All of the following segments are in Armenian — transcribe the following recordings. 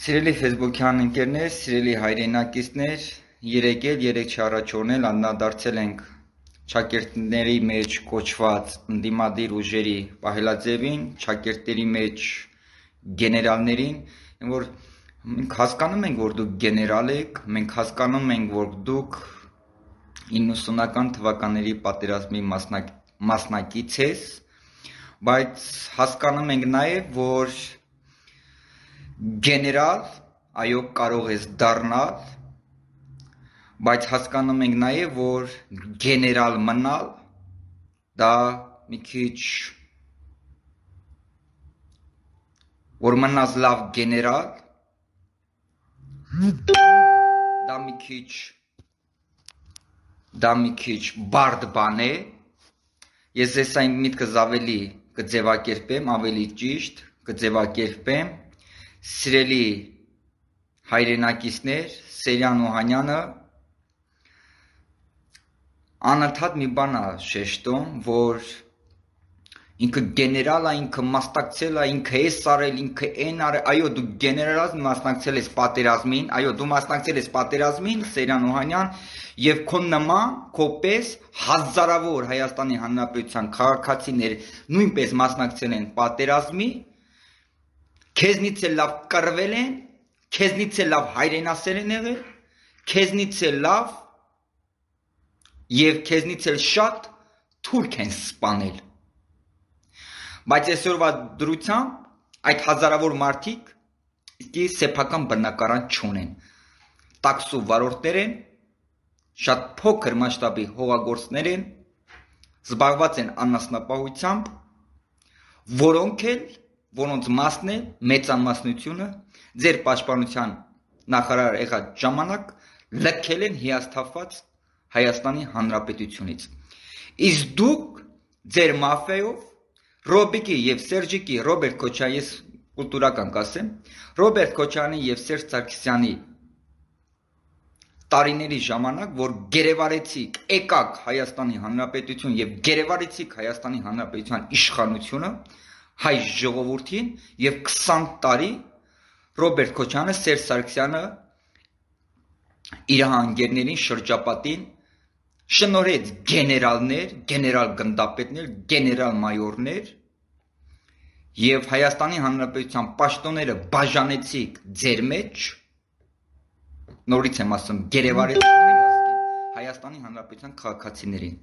Սիրելի Facebook-յան ընկերներ, սիրելի հայրենակիցներ, երեք չառաջորնել անդրադարձել ենք շակերտների մեջ կոչված ընդդիմադիր ուժերի պահելաձևին, շակերտների մեջ գեներալներին, որ մենք հասկանում ենք, որ դուք գեներալ եք, մենք հասկանում ենք, որ դուք 90-ական թվականների պատերազմի մասնակից ես, բայց հասկանում ենք նաև, որ գեներալ, այո, կարող ես դառնալ, բայց հասկանում ենք նաև, որ գեներալ մնալ, դա մի քիչ, որ մնաս լավ գեներալ, դա մի քիչ բարդ բան է, ես ես այն միտքս ավելի կձևակերպեմ, ավելի ճիշտ կձևակերպեմ, սիրելի հայրենակիցներ, Սերյան Օհանյանը անընդհատ մի բան է շեշտում, որ ինքը գեներալ է, ինքը մասնակցել է, ինքը էս արել, ինքը այն արել, այո, դու գեներալ մասնակցել ես պատերազմին, այո, դու մասնակցել ես պատերազմին, Սերյան Օհանյան, եւ քո նման, քո պես հազարավոր Հայաստանի Հանրապետության քաղաքացիներ նույնպես մասնակցել են պատերազմի, քեզնից էլ լավ կռվել են, քեզնից էլ լավ հայրենասեր են եղել, քեզնից էլ լավ եւ քեզնից էլ շատ թուրք են սպանել։ Բայց այսօրվա դրությամբ այդ հազարավոր մարդիկ իսկի սեփական բնակարան չունեն։ Տաքսու վարորդներ են, շատ փոքր մասշտաբի հողագործներ են, զբաղված են անասնապահությամբ, որոնց մասն է մեծամասնությունը ձեր պաշտպանության նախարար եղած ժամանակ լքել են հիասթափված Հայաստանի Հանրապետությունից։ Իսկ դուք ձեր մաֆիայով Ռոբիկի եւ Սերժիկի Ռոբերտ Քոչարյանի, ես կուլտուրական կասեմ, Ռոբերտ Քոչարյանի եւ Սերժ Սարգսյանի տարիների ժամանակ, որ գերեվարեցիք եկակ Հայաստանի Հանրապետություն եւ գերեվարեցիք Հայաստանի Հանրապետության իշխանությունը հայ ժողովրդին եւ 20 տարի Ռոբերտ Քոչարյանը, Սերժ Սարգսյանը իր հանգերներին շրջապատին շնորհեց գեներալներ, գեներալ գնդապետներ, գեներալ մայորներ եւ Հայաստանի Հանրապետության պաշտոնները բաժանեցիք ձեր մեջ, նորից եմ ասում, գերեվարեցիք Հայաստանի Հանրապետության քաղաքացիներին,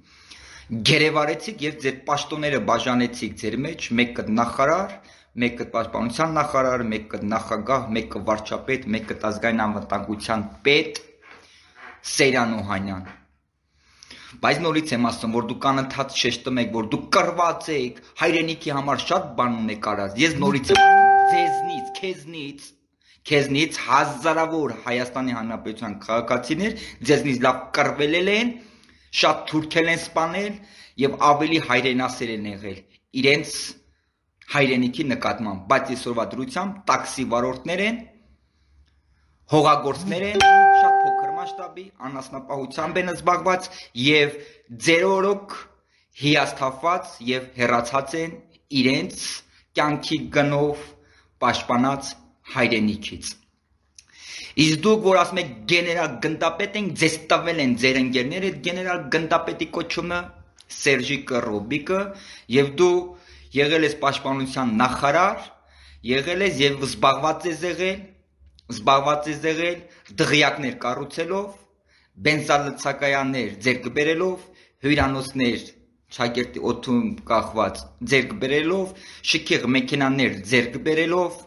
գերեվարեցիք եւ ձեր պաշտոնները բաժանեցիք ձեր մեջ, մեկը նախարար, մեկը պաշտպանության նախարար, մեկը նախագահ, մեկը վարչապետ, մեկը ազգային անվտանգության պետ, Սերյան Օհանյան։ Բայց նորից եմ ասում, որ դուք անընդհատ շեշտում եք, որ դուք կռված եք, հայրենիքի համար շատ բան ունեք արած։ Ես նորից եմ ձեզնից, քեզնից հազարավոր Հայաստանի Հանրապետության քաղաքացիներ ձեզնից լավ կռվել են, շատ թուրքել են սպանել եւ ավելի հայրենասեր են եղել իրենց հայրենիքի նկատմամբ, բայց այսօրվա դրությամբ տաքսի վարորդներ են, հողագործներ են, շատ փոքր մասշտաբի անասնապահությամբ են զբաղված եւ ձեր օրոք հիասթափված եւ հեռացած են իրենց կյանքի գնով պաշտպանած հայրենիքից։ Իսկ դուք, որ ասում եք գեներալ գնդապետ ենք, ձեզ տվել են ձեր ընկերները այդ գեներալ գնդապետի կոչումը, Սերժիկը, Ռոբիկը, եւ դու եղել ես պաշտպանության նախարար, եղել ես եւ զբաղված ես եղել դղյակներ կառուցելով, բենզալցակայաններ ձեռք բերելով, հյուրանոցներ շակերտի օդում կախված ձեռք բերելով, շքեղ մեքենաներ ձեռք բերելով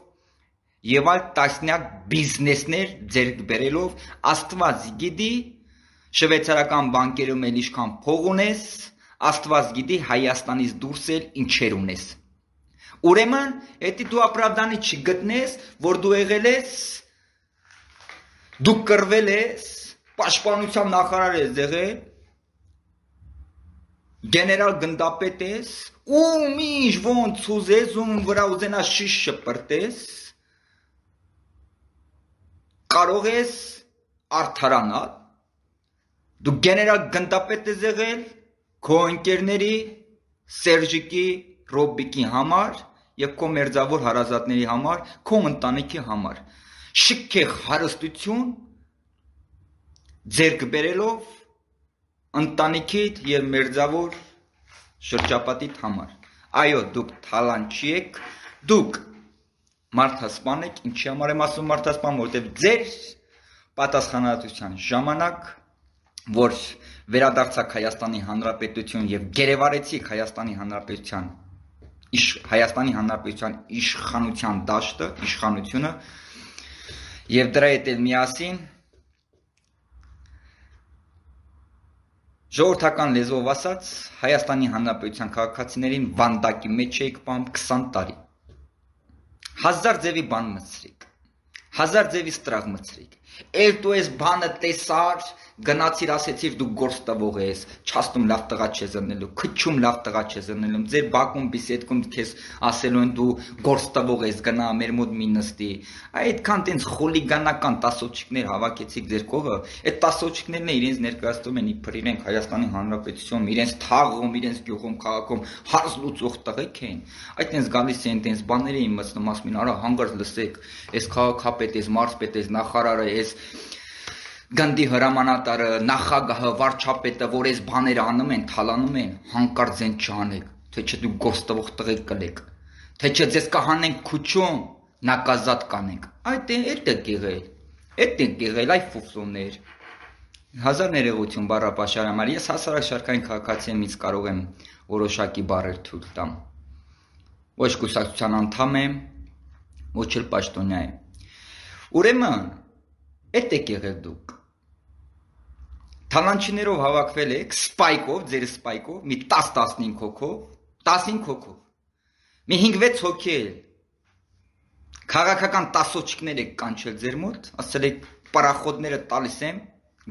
եւ այլ տասնյակ բիզնեսներ ձեռք բերելով, Աստված գիտի շվեյցարական բանկերում էլ ինչքան փող ունես, Աստված գիտի Հայաստանից դուրս էլ ինչեր ունես։ Ուրեմն, եթե դու ապրավդանի չգտնես, որ դու եղել ես, դու կռվել ես, պաշտպանության նախարար ես եղել, գեներալ գնդապետ ես, ում ինչ ոնց ուզես, ում վրա ուզենաս շիշ շպրտես, կարող ես արդարանալ, դու գեներալ գնդապետ ես եղել, քո ընկերների Սերժիկի, Ռոբիկի համար եւ քո մերձավոր հարազատների համար, քո ընտանիքի համար։ շքեղ հարստություն ձեռք բերելով ընտանիքիդ եւ մերձավոր շրջապատիդ համար։ Այո, դուք թալանչի եք, դուք մարդասպան եք, ինչի համար եմ ասում մարդասպան, որովհետեւ ձեր պատասխանատվության ժամանակ, որ վերադարձաք Հայաստանի Հանրապետություն եւ գերեվարեցիք Հայաստանի Հանրապետության իշխանության դաշտը, իշխանությունը եւ դրա հետ էլ միասին ժողովրդական լեզվով ասած Հայաստանի Հանրապետության քաղաքացիներին վանդակի մեջ եք պահում 20 տարի։ 1000 ձևի բան մտցրիք, 1000 ձևի ստրաղ մտցրիք։ Էլ դու ես բանը տեսար, գնացիր ասեցիր դու գործ տվող ես, չաստում լավ տղա չես ընելու, քչում լավ տղա չես ընելու, ձեր բակում բիսեդքում քեզ ասելու են դու գործ տվող ես, գնա մեր մոտ մի նստի։ Այդքան տենց խոլիգանական տասոչիկներ հավաքեցիք ձեր կողը, այդ տասոչիկներն է իրենց ներկայացնում են իբր իրենք Հայաստանի Հանրապետությունում, իրենց թաղում, իրենց գյուղում, քաղաքում հարց լուծող տղեկ են։ Այդ տենց գալիս են տենց բաներ էին մտնում, ասում են, արա հանգարց լսեք, այս քաղաքապետ, այս մարզպետ, այս նախարարը, այս գնդի հրամանատարը, նախագահը, վարչապետը, որ այս բաները անում են, թալանում են, հանկարծ են չանեք, թե չէ դուք գործ տվող տղեկ կլեք, թե չէ ձեզ կհանենք քուչում, նակազատ կանենք։ Այդ է եղել, այ ֆուֆլոներ։ Հազար ներողություն բառապաշար համար, ես հասարակ շարքային քաղաքացի եմ, ինձ կարող եմ որոշակի բառեր թույլ տամ։ Ոչ կուսակցության անդամ եմ, ոչ էլ պաշտոնյա եմ։ Ուրեմն, այդ է եղել դուք։ Թալանչիներով հավաքվել եք, սպայկով, ձեր սպայկով, մի 10-15 հոգով, 15 հոգով, մի 5-6 հոգի էլ, քաղաքական տասոչիկներ եք կանչել ձեր մոտ, ասել եք պարախոդները տալիս եմ,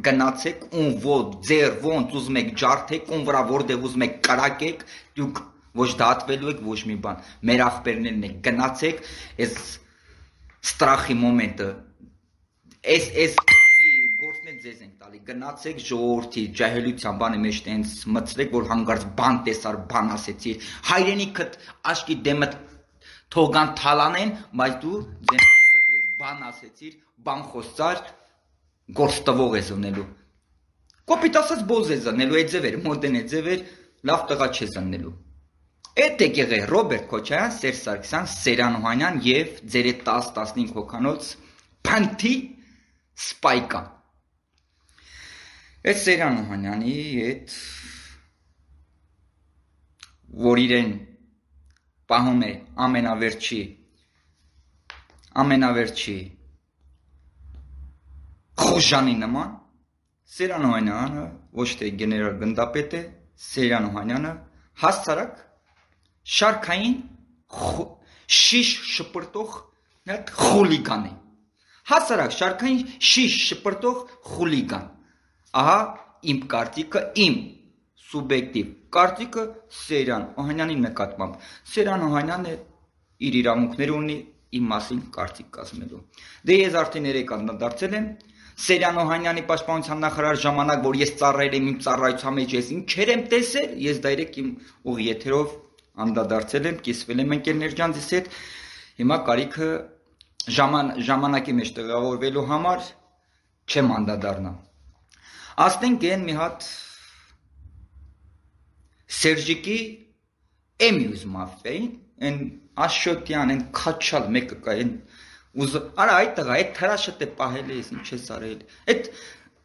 գնացեք, ում ոտ, ձեր ոնց ուզում եք ջարդեք, ում վրա որտեղ ուզում եք կրակեք, դուք ոչ դատվելու եք, ոչ մի բան, մեր աղբերներն եք, գնացեք, այս ստրախի մոմենտը, այս գործներ ձեզ ենք տալի, գնացեք ժողովրդի ջահելության բանի մեջ տենց մտցրեք, որ հանգարց բան տեսար, բան ասեցիր, հայրենիքդ աշկի դեմդ թողան թալանեն, բայց դու ձեն կտրես, բան ասեցիր, բան խոսցար, գործ տվող ես ունելու։ Կոպիտ ասած բոզ ես ունելու, այդ ձևեր, մոդեն է ձևեր, լավ տղա չես ունելու։ Այդ է եղել Ռոբերտ Քոչարյան, Սերժ Սարգսյան, Սերան Օհանյան եւ ձեր 10-15 հոգանոց փանթի սպայկա։ Այդ Սերան Օհանյանի այդ որ իրեն պահում է ամենավերջի խոժանի նման, Սերան Օհանյանը ոչ թե գեներալ գնդապետ է, Սերան Օհանյանը հասարակ շարքային շիշ շպրտող խուլիգան է։ Հասարակ շարքային շիշ շպրտող խուլիգան։ Ահա իմ կարծիքը, իմ սուբյեկտիվ կարծիքը Սերան Օհանյանի նկատմամբ։ Սերան Օհանյանը իր իրավունքները ունի իմ մասին կարծիք կազմելու։ Դե ես արդեն երեք անդրադարձել եմ Սերան Օհանյանի պաշտպանության նախարար ժամանակ, որ ես ծառայել եմ իմ ծառայության մեջ, ես ինչեր եմ տեսել, ես դայրեք իմ ուղի եթերով անդրադարձել եմ, կիսվել եմ ընկերներ ջան ձեզ հետ, հիմա կարիքը ժամանակի մեջ տեղավորվելու համար չեմ անդրադառնա։ Ասենք են մի հատ Սերժիկի էմյուզ մաֆիային, են Աշոտյան, են քաչալ մեկը կա, են արա այդ տղա, այդ թրաշը դե պահել ես, ինչ ես արել, այդ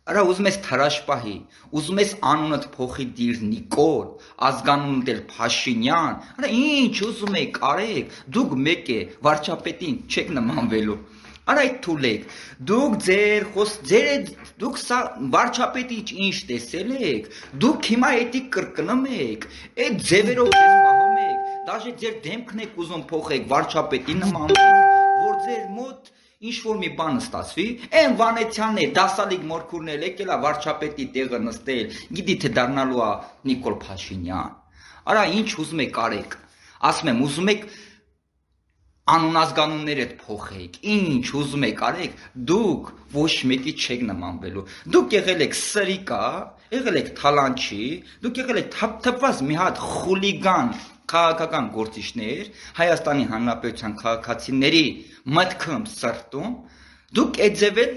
արա ուզում ես թրաշ պահի, ուզում ես անունդ փոխի դիր Նիկոլ, ազգանունդ էլ Փաշինյան, արա ինչ ուզում եք արեք, դուք մեկ է, վարչապետին չեք նմանվելու, արա այդ թուլեք, դուք սա վարչապետի ինչ տեսել եք, դուք հիմա էդի կրկնում եք, այդ ձևերով ես պահում եք, դաժե ձեր դեմքն եք ուզում փոխեք, վարչապետի նմանվեք, որ ձեր մոտ ինչ-որ մի բան ստացվի, են Վանեցյանն է, դասալիկ մորքուրն էլ եկել է վարչապետի տեղը նստել, գիտի թե դառնալու է Նիկոլ Փաշինյան, արա ինչ ուզում եք արեք, ասում եմ ուզում եք անուն-ազգանուններ էդ փոխեք, ինչ ուզում եք արեք, դուք ոչ մեկի չեք նմանվելու, դուք եղել եք սրիկա, եղել եք թալանչի, դուք եղել եք թափված մի հատ խուլիգան քաղաքական գործիչներ, Հայաստանի Հանրապետության քաղաքացիների մտքում սրտում, Դուք այդ ձևել